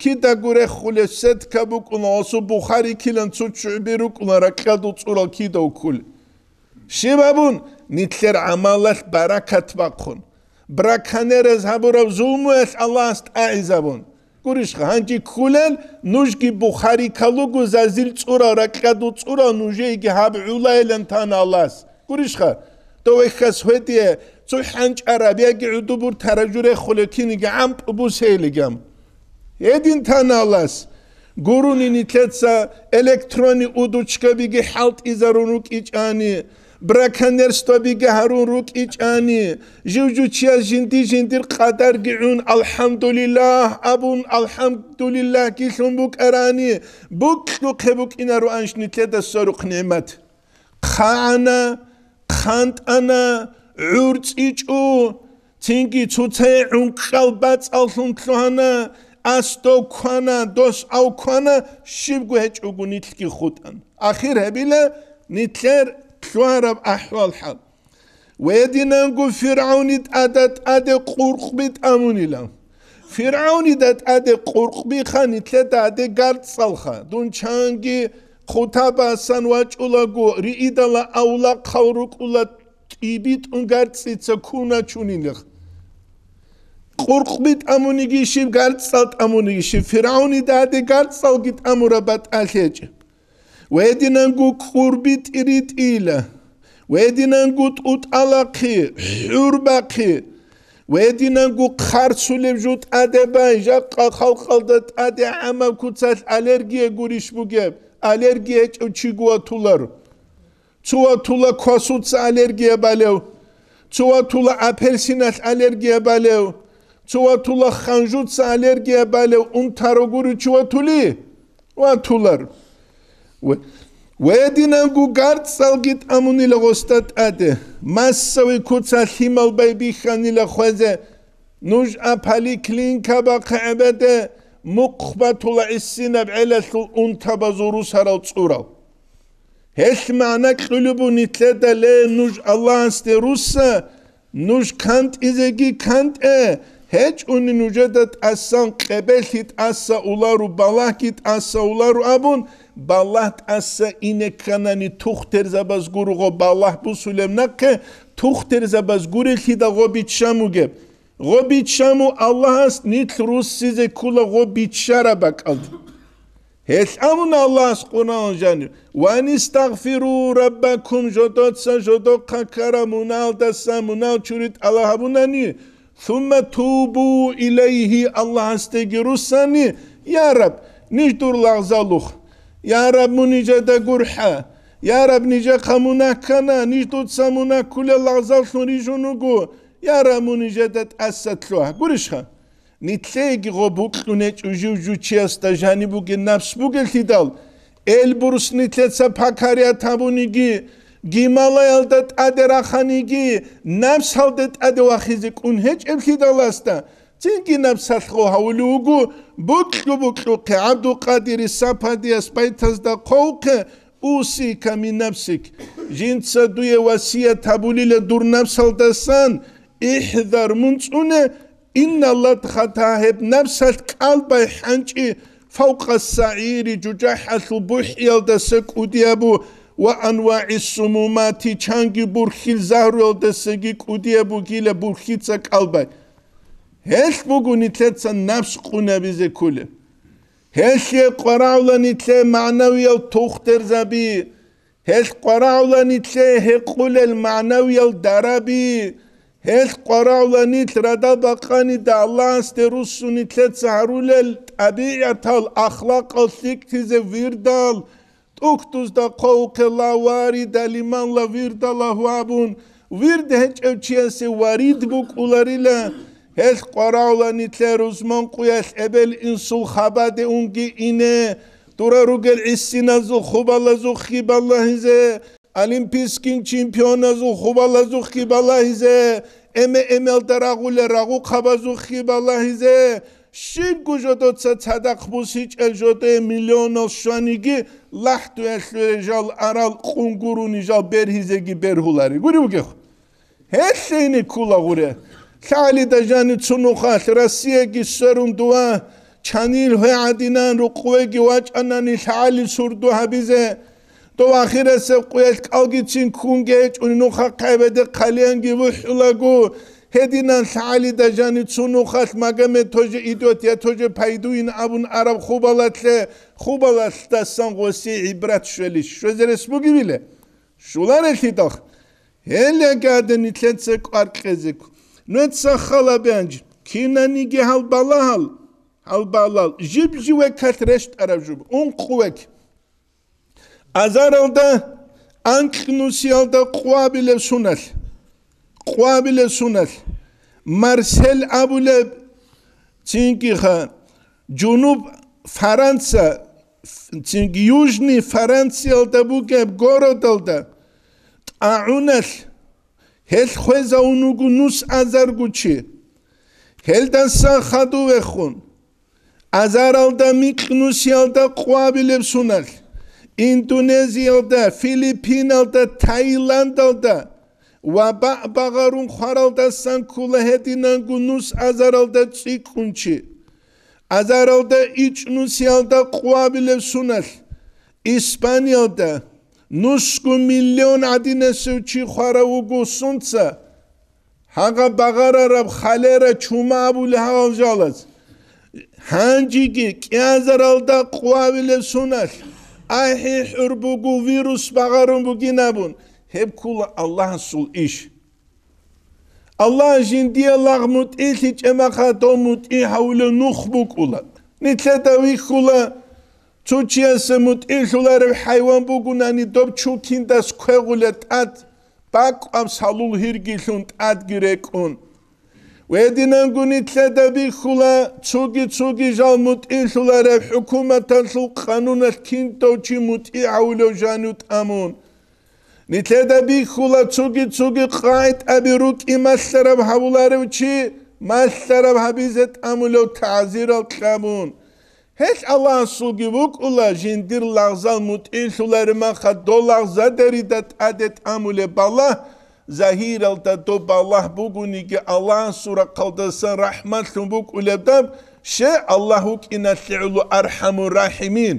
кидаго рехулеб сетка букӀуна, гъосул Бухари килан цо ччугӀби рукӀуна, ракьалда цӀурал кида вуккулеб. Щиб абун, нилъер гӀамалалъ баракат бахъун, браконьерез гьабураб зулмуялъ Аллагьас тӀагӀизабун. Гурищха, гьанже кколел, нужги Бухари калуго зазил цӀурал, ракьадул цӀурал нужееги гьаб гӀулайилан тана Аллагьас. Гурищха, дов вехьас гьедие, цо хӀанчӀараб яги гӀудубур таражу рехулев киниги гӀампӀу бусейилигам. Гьедин тана Аллагьас. Гурони нилъеца электронный удочкабиги хӀалтӀизарун рукӀичӀани, браконьерствобиги гьарун рукӀичӀани, жив-жучияс жинди-жиндир къадарги гӀун, «АлхӀамдулиллагь» абун, «АлхӀамдулиллагьги» лъун букӀарани, букьухъе букӀинароанищ нилъеда сверухъ нигӀмат. ХъагӀана, хъантӀана, гӀурцӀичӀо, цинги цоцае гӀункъал бацӀаллъун лъугьана, ас дов квана, дос ав квана, щибго гьечӀого нилъги хутӀан. Ахир гьабила нилъер лъугьараб ахӀвал-хӀал. Гьединанго ФиргӀавни тӀада тӀаде къуркъби тӀамунила. ФиргӀавнида тӀаде къуркъбиха нилъеда гьаде гарцӀалха. Дун чанги хутабасан вачӀулаго, риидала авлахъал рукӀула тӀибитӀун гарцӀица куначунилих. Къуркъби тӀамуниги щиб, гарцӀал тӀамуниги щиб, ФиргӀавнида гьаде гарцӀалги тӀамураб батӀалъ гьечӀеб. Гьединанго кӀурби тӀиритӀила, гьединанго тӀутӀалахъи, хӀурбахъи, гьединанго хъарцулеб жо тӀаде бай, жакъа халкъалда тӀаде гӀамаб куцалъ аллергия гурищ бугеб, аллергия гьечӀев чиго ватулар. Цо ватула квасуца аллергия балев, цо ватула апельсиналъ аллергия балев, цо ватула ханжуца аллергия балев, унтарогури чи ватули? Ватулар. Ва-, ва гьединанго гарцӀалги тӀамунила гъосда тӀаде, массави куца лъимал байбихьанила хвезе, нуж а поликлиникабахъе гӀебеде, мухъ батула гӀисинаб гӀелалъул унтабазул русарал цӀурал. Гьелъ магӀна кьулеб бу нилъеда, ле, нуж Аллагьасде русса, нуж кантӀизеги кантӀе, гьечӀони нужеда тӀасан къебелъи тӀаса улару, балагьги тӀаса улару абун, балагь тӀаса ине кканани, тухтерзабаз гурого балагь бусулеб нахъе, тухтерзабаз гурелъидал гъо биччан бугеб. Гъо биччан бу Аллагьас нилъ руссизе ккула гъо биччараб бакӀалда. Гьелъ абуна Аллагьас Къуръан жанив: «Ва анистагъфиру раббакум», жодоца жодохъа ккара муналдаса мунал чури тӀала гьабунани, «сумма тубу илайгьи», Аллагьасдеги руссани, я Раб, ниж дур лагъзалухъ, я Раб, мун нижеда гурхӀа, я Раб, нижехъа мунагь ккана, ниж дуца мунагь ккулел лагъзаллъун рижун руго, я Раб, мун нижеда тӀаса лъугьа. Гурищха? Нилъееги гъо букьун гьечӀо жив-жучиясда жаниб бугеб напс бугелъидал, элбурус нилъеца пакарият гьабуниги, гималаялда тӀаде раханиги, напсалде тӀаде вахизе кӀун гьечӀеблъидаласда, цинги напсалъ гъо гьавулев вуго, букьу-букьухъе, ГӀабдулкъадири Сападияс байтазда хъвавухъе, «Усика мин нафсик», жинца дуе васият гьабулила дур напсалдасан, ихӀзар, мун цӀуне, «Инна ладгъата», гьеб напсалъ кӀалбай хӀанчӀи, «фавкъа сагӀири», жужахӀалъул бухӀиялдаса кӀудиябу, «ва анвагӀи сумумати», чанги бурхьил загьруялдасаги кӀудияб бугила бурхьица кӀалбай. Гьелъ буго нилъеца напс къунабизе кколеб. Гьелъие къварагӀула нилъее магӀнавиял тухтерзаби, гьелъ къварагӀула нилъее гьекъулел магӀнавиял дараби, гьелъ къварагӀула нилъ радал бакъанида Аллагьасде руссун нилъеца гьарулел тӀабигӀатал, ахлакъал лъикӀлъизе вирдал, тӀухьдузда хъвавухъе ла варида лиман ла вирда лагьу абун, вирд гьечӀев чиясе варид букӀуларила, гьелъ къварагӀула нилъее рузман къуялъ эбел-инсул хабаде унги ине, Сура ругел гӀисиназул хубалазухъги балагьизе, олимпийскин чемпионазул хубалазухъги балагьизе, эме-эмелда рагъулел рагъухъабазухъги балагьизе, щибго жодоца цадахъ бусичӀел жодое миллионал щваниги, лахӀдуялъуре жал арал къунгуруни жал бергьизеги бергьулари. Гури бугехъ. Гьелъейни ккула гъуре. ЛъагӀалида жанив цо нухалъ Россияги сверун дова, чанил гьвегӀадинан рукъувеги вачӀанани лъагӀалил сурду гьабизе. Дов ахирасеб къуялъ кӀалгицин ккунги гьечӀони нухахъ гӀебеде хъалиянги вухӀулаго, гьединан лъагӀалида жанив цо нухалъ Магомед тоже идет, я тоже пойдуин абун араб хубалалъе, хубалалъдасан гъосие гӀибрат щвелищ? Щвезе рес бугевиле? Щуларелъидал. Гьел яги гьадин нилъеца кӀвар кьезе ккун. Нужеца хал гьабе гьанже, кинаниги гьал балагьал, гьал балагьал, жиб-жиб векалъ рещтӀараб жо, ункъо век. Азаралда анкьнусиялда къвабилеб суналъ, къвабилеб суналъ, Марсель абулеб, цинги ха, жунуб Фаранция, цинги Южный Фаранциялда бугеб городалда тӀагӀуналъ, гьелъ хвезавун вуго нус азарго чи. Гьелдаса хадув вехун, азаралда микьнусиялда къвабилеб суналъ, Индонезиялда, Филиппиналда, Таиландалда ва баъ багъарун хваралдасан ккула гьединанго нус азаралда цӀикӀкӀун чи. Азаралда ичӀнусиялда къвабилеб суналъ, Испаниялда нусго миллион гӀадинасев чи хварав вуго сунца, гьагъа багъарараб холера, чума абулеб гьал жалаз. Гьанжеги кӀиазаралда къвабилеб суналъ, ахӀи хӀур буго вирус багъарун бугин абун, гьеб ккула Аллагьасул иш. Аллагь жиндие лагъ мутӀигьлъичӀеб маха дов мутӀигь гьавулев нух букӀула. Нилъеда вихьула, цо чиясе мутӀигьлъуларев хӀайван бугунани доб чукиндас квегъулеб тӀад, бакӀваб салул гьиргилъун тӀадги рекӀун. Гьединанго нилъеда бихьула, цоги-цоги жал мутӀигьлъуларев хӀукуматалъул къануналъ киндав чи мутӀигь гьавулев жанив тӀамун. Нилъеда бихьула, цоги-цоги къагӀидаби рукӀи малъараб гьавуларев чи малъараб гьабизе тӀамулев, тагӀзирал кьабун. Гьелъ Аллагьасулги вукӀула, жиндир лагъзал мутӀигьлъулареб маха дол лагъзадерида тӀаде тӀамулеб балагь, загьиралда доб балагь бугониги, Аллагьасул рахъалдасан рахӀматлъун букӀулеб даб, ще Аллагь вукӀиналъе гӀоло архӀамур рахӀимин.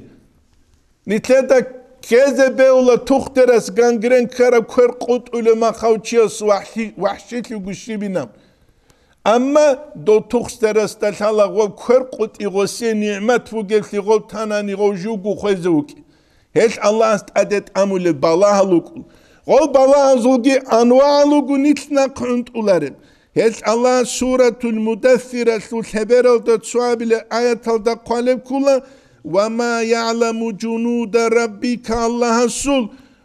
Нилъеда ккезе бегьула тухтерас гангрен ккараб квер къутӀулев махав чияс вахӀлъи-, вахӀщилъиго щибинаб. Амма дов тухтерасда лъала гъов квер къутӀи гъосие нигӀмат бугеблъи гъов танани гъов живго хвезе вукӀи. Гьелъ Аллагьас тӀаде тӀамулеб балагьал вукӀун. Гъов балагьазулги анвагӀал вуго нилъ нахъ гӀунтӀулареб. Гьелъ Аллагь Суратул Мудаффиралъул лъебералда цоабилеб аяталда хъвалеб ккула: «Ва ма ягӀламу жунуда раббика», Аллагьасул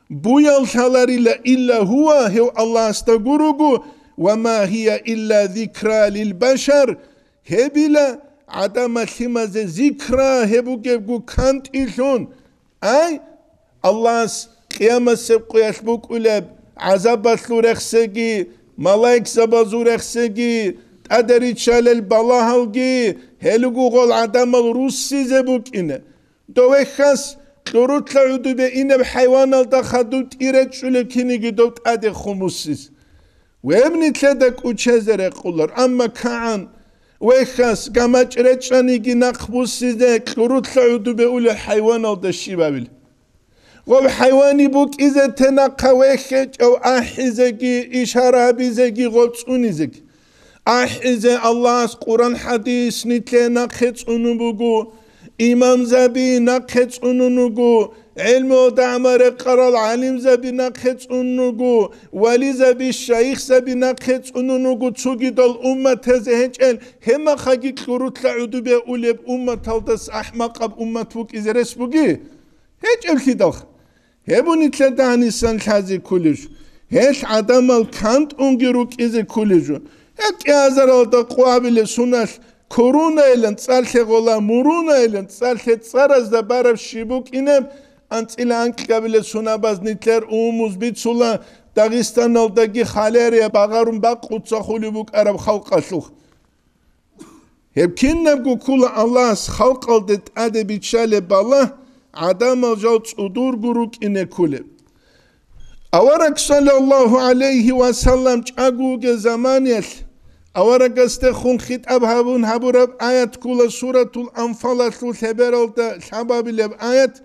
буял лъаларила илла гьува, гьев Аллагьасда гуруго, «ва ма гьия илла зикра лил башар», гьебила гӀадамал лъимазе зикра, гьеб бугебго кантӀилъун. Ай, Аллагьас къиямасеб къуялъ букӀулеб гӀазабалъул рехсеги, малаикзабазул рехсеги, тӀаде риччалел балагьалги, гьелугугъал гӀадамал руссизе букӀине. Довехьас кьурулъа гӀудубе инеб хӀайваналда хадуб тӀиречӀулеб киниги дов тӀаде хумусис. Веб нилъеда кӀучезе рекъолар, амма кагӀан, вехьас, гамачӀ речӀчӀаниги нахъ буссизе кьурулъа гӀудубе улел хӀайваналда щибабил. Гъоб хӀайвани букӀизе те нахъа вехьечӀев ахӀизеги, ишара гьабизеги, гъоб цӀунизеги. АхӀизе Аллагьас Къуран-хӀадис нилъе нахъе цӀунун буго, имамзаби нахъе цӀунун вуго, гӀелмуялда гӀамал рекъарал гӀалимзаби нахъе цӀунун вуго, вализаби, шайихзаби нахъе цӀунун вуго, цогидал умматазе гьечӀел, гьебмахаги кьурулъа гӀудубе улеб умматалдас ахӀмакъаб уммат букӀизе рес буги? ГьечӀеблъидалха. Гьеб нилъеда гьанисан лъазе кколеб жо. Гьелъ гӀадамал кантӀунги рукӀизе кколеб жо. Гьеб кӀиазаралда къвабилеб суналъ Курунаилан цӀар лъегъола, мурунаилан цӀар лъе цӀаразда бараб щиб букӀинеб, анцӀила анкьабилеб сунабаз нилъер умумуз бицула, Дагъистаналдаги халарияб багъарун бакъуца хулеб букӀараб халкъалъухъ. Гьеб кинабго ккола Аллагьас халкъалде тӀаде биччалеб балагь, гӀадамал жал цӀудурго рукӀине кколеб. Авараг, саллаллагьу гӀалайгьи ва саллам, чӀаго вугев заманиялъ, аварагасдехун хитӀаб гьабун гьабураб аят ккола Суратул Анфалалъул лъебералда лъабабилеб аят: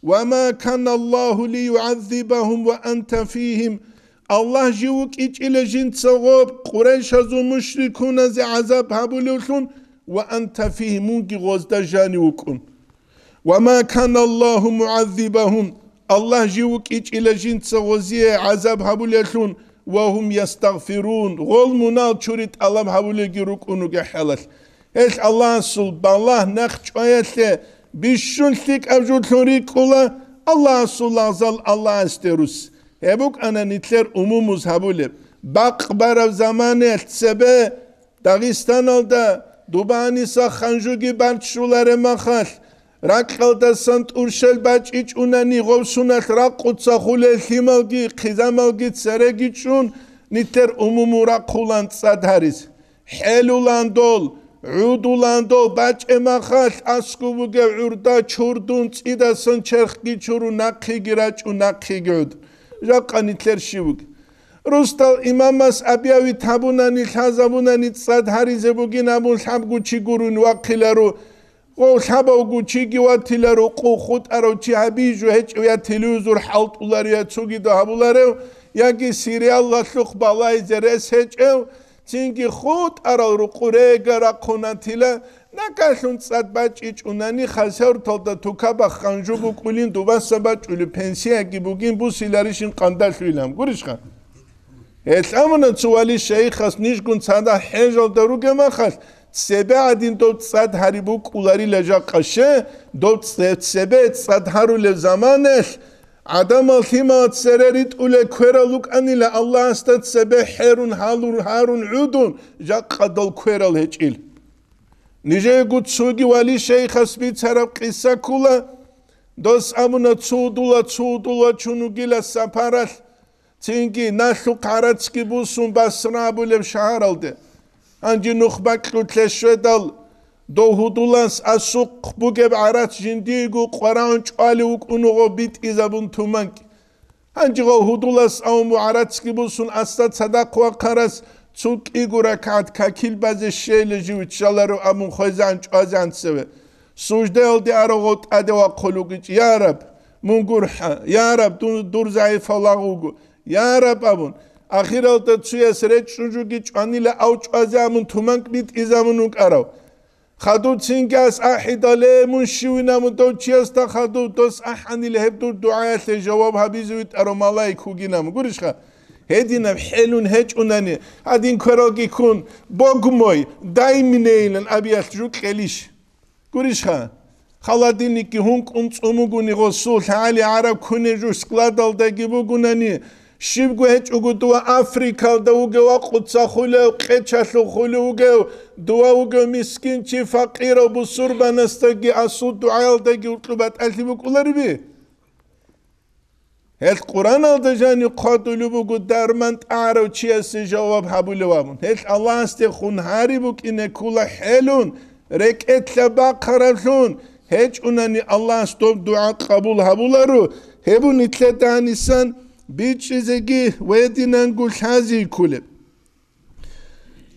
«Ва ма каналлагьу лиюгӀаззибагьум ва анта фигьим». Аллагь жив вукӀичӀила жинца гъоб Къурайшазул мушрикуназе гӀазаб гьабулевлъун, ва анта фигьим, мунги гъозда жанив вукӀун. «Ва ма каналлагьу мугӀаззибагьум», Аллагь жив вукӀичӀила жинца гъозие гӀазаб гьабулеллъун, «ва гьум ястагъфирун», гъол мунал чури тӀалаб гьабулелги рукӀун ругехӀалалъ. Гьелъ Аллагьасул балагь нахъ чӀваялъе бищун лъикӀаб журлъун рикӀкӀула, Аллагьасул лагъзал Аллагьасде рус. Гьеб букӀана нилъер умумуз гьабулеб. Бакъ бараб заманаялъ цебе Дагъистаналда дубаниса ханжуги баччуларе махалъ, ракьалдасан тӀурщел бачӀичӀунани гъовсуналъ ракъуца хулел лъималги хъизамалги цереги чӀун, нилъер умуму рахъулан цӀад гьариз. ХӀелулан дол, гӀудулан дол, бачӀе махалъ аскӀуб бугев гӀурда чурдун цӀидасан черхги чурун нахъеги рачӀун нахъеги гӀуд. Жакъа нилъер щив вугев? Рустал имамас абиявит гьабунани, лъазабунани цӀад гьаризе бугин абун лъабго чи гурун вахъиларо, гъов лъабавго чиги ватиларо, къу хутӀарав чи гьабижу гьечӀев, я телевизор хӀалтӀуларев, я цогидав гьабуларев, яги сериалалъухъ балайзе рес гьечӀев, цинги хутӀарал рукъу рега рахъунатила, накалъун цӀад бачӀичӀунани, хасаврталда тукабахъ ханжу букӀулин дубаса бачӀулев пенсияги бугин бусиларищин къандалъуйилан гурищха? Гьелъ амуна цо вали шайихас нижгун цадахъ хӀежалда ругеб махалъ, цебе гӀадин доб цӀад гьари букӀуларила жакъа ще, доб цебе цӀад гьарулеб заманалъ, гӀадамал лъимал цере ритӀулел кверал рукӀанила Аллагьасда цебе хӀерун гьалур гьарун гӀудун, жакъа дол кверал гьечӀил. Нижеего цоги вали шайихас бицараб къиса ккола, дос абуна цо удула, цо удула чун вугила сапаралъ, цинги налъухъ гӀарацги бусун Басра абулеб шагьаралде. Гьанже нухбакьулъе щведал, дов гьудулас асухъ бугеб гӀарац жиндиего къварагӀун чӀвалев вукӀун вуго битӀизабун туманкӀ. Гьанже гъов гьудулас авун гӀарацги бусун асда цадахъ вахъарас цо кӀиго ракагӀат какил базе щейила жив ччаларо абун хвезегӀан чӀвазегӀан цеве. Суждаялде арав гъов тӀаде вахъулев вугич: «Я Раб, мун гурхӀа, я Раб, дун, дур загӀипав лагъ вуго, я Раб», — абун. Ахиралда цояс речӀчӀун жуги чӀванила ав чӀвазе абун туманкӀ битӀизабун вукӀарав. Хадув цинги ас ахӀидал: «Э, мун щивин?» — абун дов чиясда хадув дос ахӀанила гьеб дур дугӀаялъе жаваб гьабизе витӀарав малаик вугин абун. Гурищха? Гьединаб хӀелун гьечӀунани, гьадин квералги ккун, «Бог мой, дай мне», — илан абиялъ жо кьелищ? Гурищха? Холодильникги гьункӀун цӀун бугони гъосул, лъагӀали гӀараб куне жо складалдаги бугунани, щибго гьечӀого дова Африкалда вугев, вакъуца хулев, къечалъув хулев вугев, дова вугев мискин чи, факъирав, бусурбанасдаги асул дугӀаялдаги уркьуб батӀалъи букӀулариби? Гьелъ Къуръаналда жанив хъвадулеб буго дарман тӀагӀарав чиясе жаваб гьабулев абун. Гьелъ Аллагьасдехун гьари букӀине ккола хӀелун, рекӀелъа бахъараблъун, гьечӀунани Аллагьас доб дугӀа къабул гьабуларо, гьеб нилъеда гьанисан бичӀчӀизеги ва гьединанго лъази кколеб.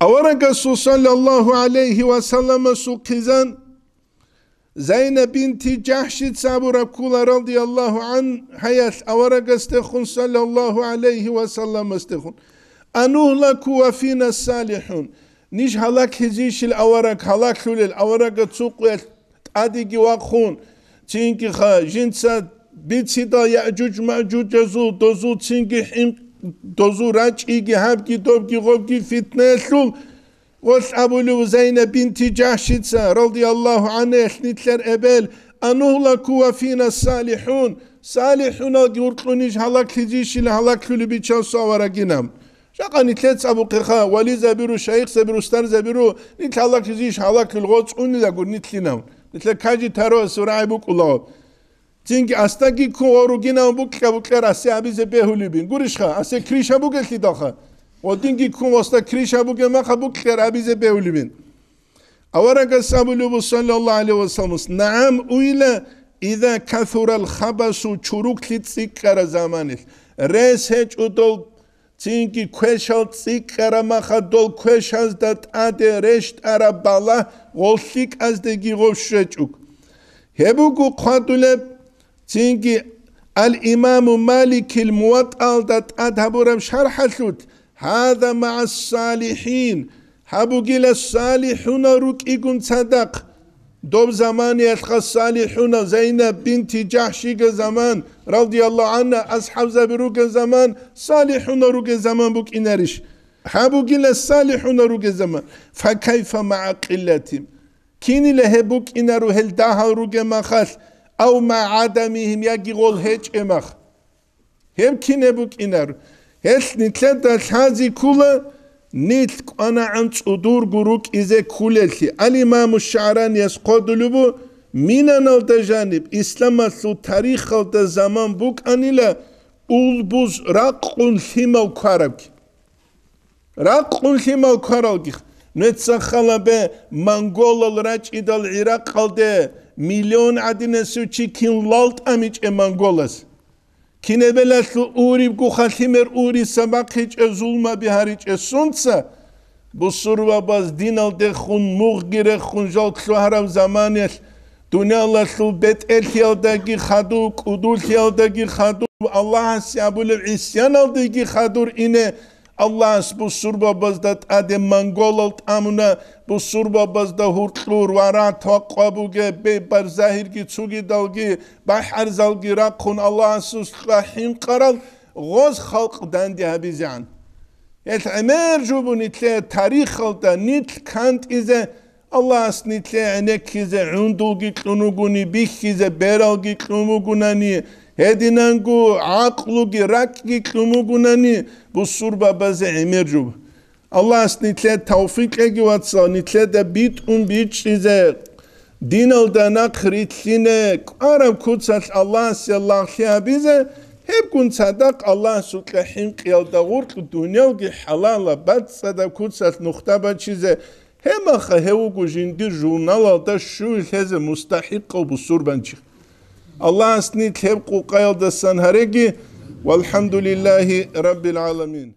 Аварагасул саллаллагьу гӀалайгьи ва салламасул хъизан Зайнаб бинти Жахшица абураб ккола, радияллагьу гӀангьаялъ, аварагасдехун, саллаллагьу гӀалайгьи ва салламасдехун: «Анугьлаку ва фина салихӀун». Ниж гьалаклъизейищил авараг гьалаклъулел, аварага цо къуялъ тӀадеги вахъун, цинги ха, жинца бицидал Яъжуж-Маъжужазул, дозул цинги хӀинкъ-, дозул рачӀиги, гьабги, добги, гъобги фитнаялъул, гъолъ абулев Зайнаб бинти Жахшица, радияллагьу гӀангьаялъ, нилъер эбел: «Анугьлаку ва фина салихӀун», салихӀуналги уркьун ниж гьалаклъизейищила гьалаклъулеб бичасул аварагин абун. Жакъа нилъеца абухъеха, вализабиру, шайихзабиру, устарзабиру, нилъ гьалаклъизейищ, гьалаклъул гъоцӀ унила гур нилъинав. Нилъер кажи таро сурагӀи букӀулаго. Цинги асдаги ккун ва ругинав букьа-букьа расе абизе бегьулебин. Гурищха, асе крыша бугелъидалха. Ва динги ккун васда крыша бугеб маха букьа абизе бегьулебин. Аварагас абулеб буго, саллаллагьу гӀалайгьи ва саллам, нагӀам уйла, иза касурал хабасу, чуруклъи цӀикӀкӀара заманилъ. Рес гьечӀо дол, цинги квешал цӀикӀкӀара маха дол квешазда тӀаде рещтӀараб балагь гъол лъикӀаздеги гъов щвечӀуг. Гьеб буго хъвадулеб, цинги Ал-Имаму Маликил МуватӀаялда тӀад гьабураб шархӀалъулъ, гьаза магӀас салихӀин, гьаб бугила салихӀунал рукӀигун цадахъ. Доб заманиялъха салихӀунал Зайнаб бинти Жахшига заман, радияллагьу гӀанха, асхӀабзаби ругел заман, салихӀунал ругел заман букӀинарищ? Гьаб бугила салихӀунал ругел заман. Факайфа магӀа къиллатим? Кинила гьеб букӀинаро гьел дагьал ругеб махалъ, ав магӀа гӀадамигьим, яги гъол гьечӀеб мах? Гьеб кине букӀинар? Гьелъ нилъеда лъази ккула, нилъ кӀванагӀан цӀудурго рукӀизе кколелъи. Ал-Имаму ШагӀранияс хъодулеб бу, Минаналда жаниб, исламалъул тарихалда заман букӀанила улбуз ракъун лъимал кварабги. Ракъун лъимал кваралги. Нуца халабе, монголал рачӀидал ГӀиракъалде миллион гӀадинасев чи кин лал тӀамичӀеб монголас? Кинебелалъул урибго халимер уриса бахъичӀеб, зулмаби гьаричӀеб сунца? Бусурбабаз диналдехун, мугъги рехун жал лъугьараб заманаялъ, дуниялалъул бетӀерлъиялдаги хадур, кӀудулъиялдаги хадур, Аллагьасе абулеб гӀисяналдеги хадур ине, Аллагьас бусурбабазда тӀаде монголал тӀамуна, бусурбабазда гьуркьур ва ратвакъва бугеб бебар загьирги цугидалги, бахӀарзалги рахъун Аллагьасул хӀинкъарал гъоз халкъ данде гьабизегӀан. Гьел гӀемер жубу нилъе тарихалда нилъ кантӀизе, Аллагьас нилъе гӀенеккизе гӀундулги кьун вугони, бихьизе бералги кьун вугунани, гьединанго гӀакълуги ракӀги кьун вугунани, бусурбабазе гӀемер жуб. Аллагьас нилъе тавфикъ кьеги, вацал, нилъеда битӀун бичӀчӀизе, диналда нахъ рилълъине, кӀвараб куцалъ Аллагьасе лагълъи гьабизе, гьебгун цадахъ Аллагьасукьа хӀинкъиялда гъуркь дуниялги хӀалалаб бацӀцӀадаб куцалъ нухда бачизе, гьеб маха гьев вуго жиндир журналалда щуй лъезе мустахӀикъав бусурбанчи. Аллагьас нилъ гьеб къукъаялдасан гьареги, валхӀамдулиллагьи раббил гӀаламин.